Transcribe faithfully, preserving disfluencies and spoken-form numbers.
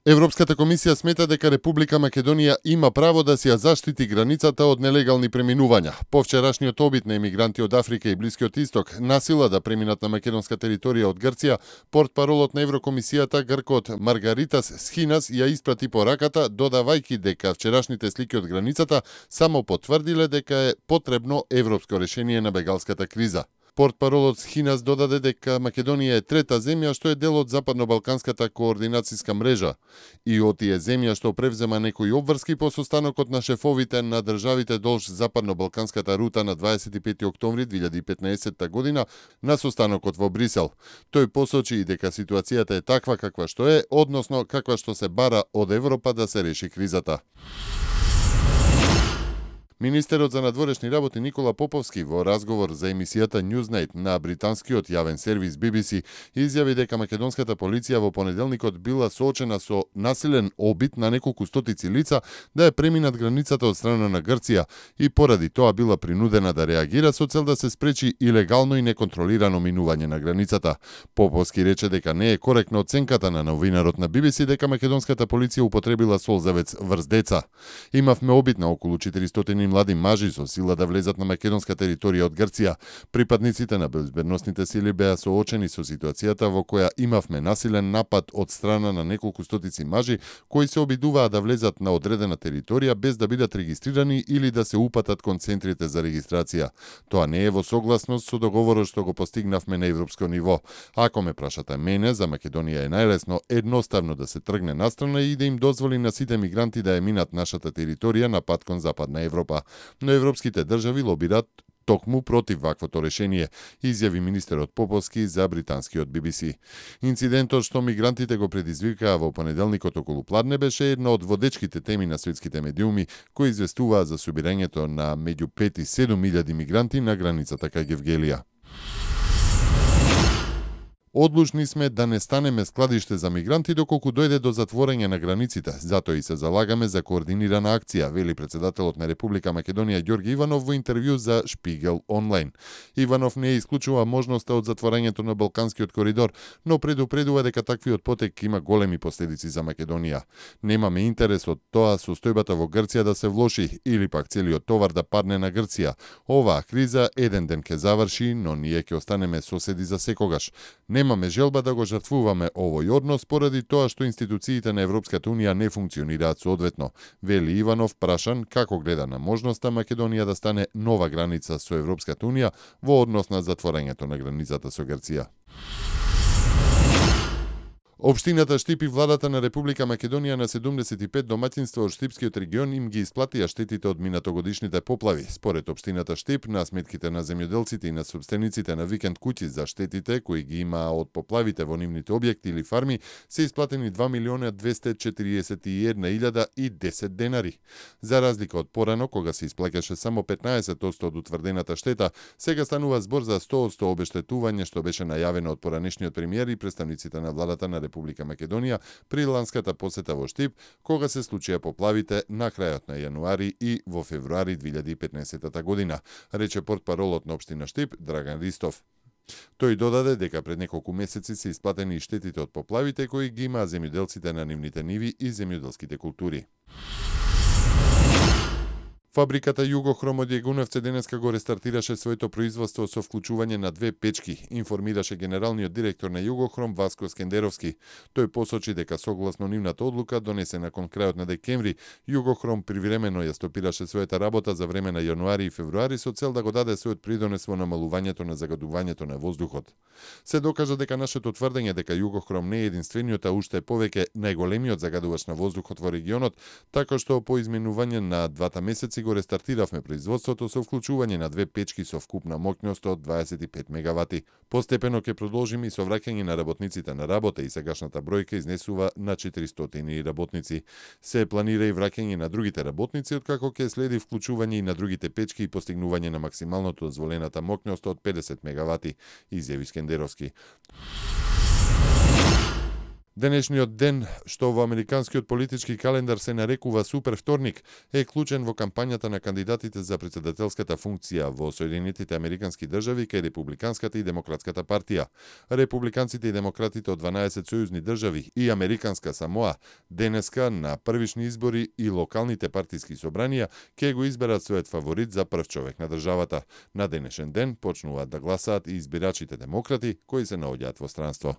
Европската комисија смета дека Република Македонија има право да си ја заштити границата од нелегални преминувања. По вчерашниот обид на емигранти од Африка и Блискиот Исток насила да преминат на македонска територија од Грција, портпаролот на Еврокомисијата гркот Маргаритас Схинас ја испрати пораката, додавајќи дека вчерашните слики од границата само потврдиле дека е потребно европско решение на бегалската криза. Портпаролот Схинас додаде дека Македонија е трета земја што е дел од Западно-Балканската координацијска мрежа и од тие земја што превзема некои обврски по состанокот на шефовите на државите долж Западно-Балканската рута на дваесет и пети октомври две илјади и петнаесетта година на состанокот во Брисел. Тој посочи и дека ситуацијата е таква каква што е, односно каква што се бара од Европа да се реши кризата. Министерот за надворешни работи Никола Поповски во разговор за емисијата Newsnight на британскиот јавен сервис Би Би Си изјави дека македонската полиција во понеделникот била соочена со насилен обид на неколку стотици лица да ја преминат границата од страна на Грција и поради тоа била принудена да реагира со цел да се спречи илегално и неконтролирано минување на границата. Поповски рече дека не е коректна оценката на новинарот на Би Би Си дека македонската полиција употребила солзавец врз деца. Имавме обид на околу четиристотини млади мажи со сила да влезат на македонска територија од Грција. Припадниците на безбедносните сили беа соочени со ситуацијата во која имавме насилен напад од страна на неколку стотици мажи кои се обидуваа да влезат на одредена територија без да бидат регистрирани или да се упатат кон центрите за регистрација. Тоа не е во согласност со договорот што го постигнавме на европско ниво. Ако ме прашате мене, за Македонија е најлесно едноставно да се тргне настрана и да им дозволи на сите мигранти да ја минат нашата територија на пат кон Западна Европа. Но европските држави лобираат токму против ваквото решение, изјави министерот Поповски за британскиот Би Би Си. Инцидентот што мигрантите го предизвикаа во понеделникот околу пладне беше една од водечките теми на светските медиуми кои известуваа за собирањето на меѓу пет и седум илјади мигранти на границата кај Гевгелија. Одлучни сме да не станеме складиште за мигранти доколку дојде до затворање на границите, затоа и се залагаме за координирана акција, вели председателот на Република Македонија Ѓорги Иванов во интервју за Шпигел онлайн. Иванов не исклучува можноста од затворањето на Балканскиот коридор, но предупредува дека таквиот потек има големи последици за Македонија. Немаме интерес од тоа состојбата во Грција да се влоши или пак целиот товар да падне на Грција. Оваа криза еден ден ќе заврши, но ние ќе останеме соседи за секогаш. Немаме желба да го жртвуваме овој однос поради тоа што институциите на Европската унија не функционираат соодветно, вели Иванов прашан како гледа на можноста Македонија да стане нова граница со Европската унија во однос на затворањето на границата со Грција. Општината Штип и владата на Република Македонија на седумдесет и пет домаќинства од Штипскиот регион им ги исплатија штетите од минатогодишните поплави. Според општината Штип, на сметките на земјоделците и на собствениците на викенд куќи за штетите кои ги имаа од поплавите во нивните објекти или фарми, се исплатени два милиони двесте и четириесет и една илјада и десет денари. За разлика од порано, кога се исплаќаше само петнаесет одсто од утврдената штета, сега станува збор за сто одсто обештетување што беше најавено од поранешниот премиер и представниците на владата на Република Македонија при ланската посета во Штип, кога се случија поплавите на крајот на јануари и во февруари две илјади и петнаесетта година, рече портпаролот на општина Штип Драган Ристов. Тој додаде дека пред неколку месеци се исплатени и штетите од поплавите кои ги имаа земјоделците на нивните ниви и земјоделските култури. Фабриката Југохром од Јегуневце денеска го рестартираше своето производство со вклучување на две печки, информираше генералниот директор на Југохром Васко Скендеровски. Тој посочи дека согласно нивната одлука донесена кон крајот на декември, Југохром привремено ја стопираше својата работа за време на јануари и февруари со цел да го даде својот придонес во намалувањето на загадувањето на воздухот. Се докажа дека нашето тврдење дека Југохром не е единствениот, а уште повеќе најголемиот загадувач на воздухот во регионот, така што по изменување на двата месеци го рестартиравме производството со вклучување на две печки со вкупна моќност од дваесет и пет мегавати. Постепено ќе продолжиме и со враќање на работниците на работа и сегашната бројка изнесува на четиристотини работници. Се планира и враќање на другите работници, откако ќе следи вклучување и на другите печки и постигнување на максималното дозволената моќност од педесет мегавати, изјави Скендеровски. Денешниот ден, што во американскиот политички календар се нарекува Супер вторник, е клучен во кампањата на кандидатите за претседателската функција во Соединетите американски држави кај Републиканската и Демократската партија. Републиканците и демократите од дванаесет сојузни држави и Американска Самоа денеска на првични избори и локалните партиски собранија ќе го изберат својот фаворит за прв човек на државата. На денешен ден почнуваат да гласаат и избирачите демократи кои се наоѓаат во странство.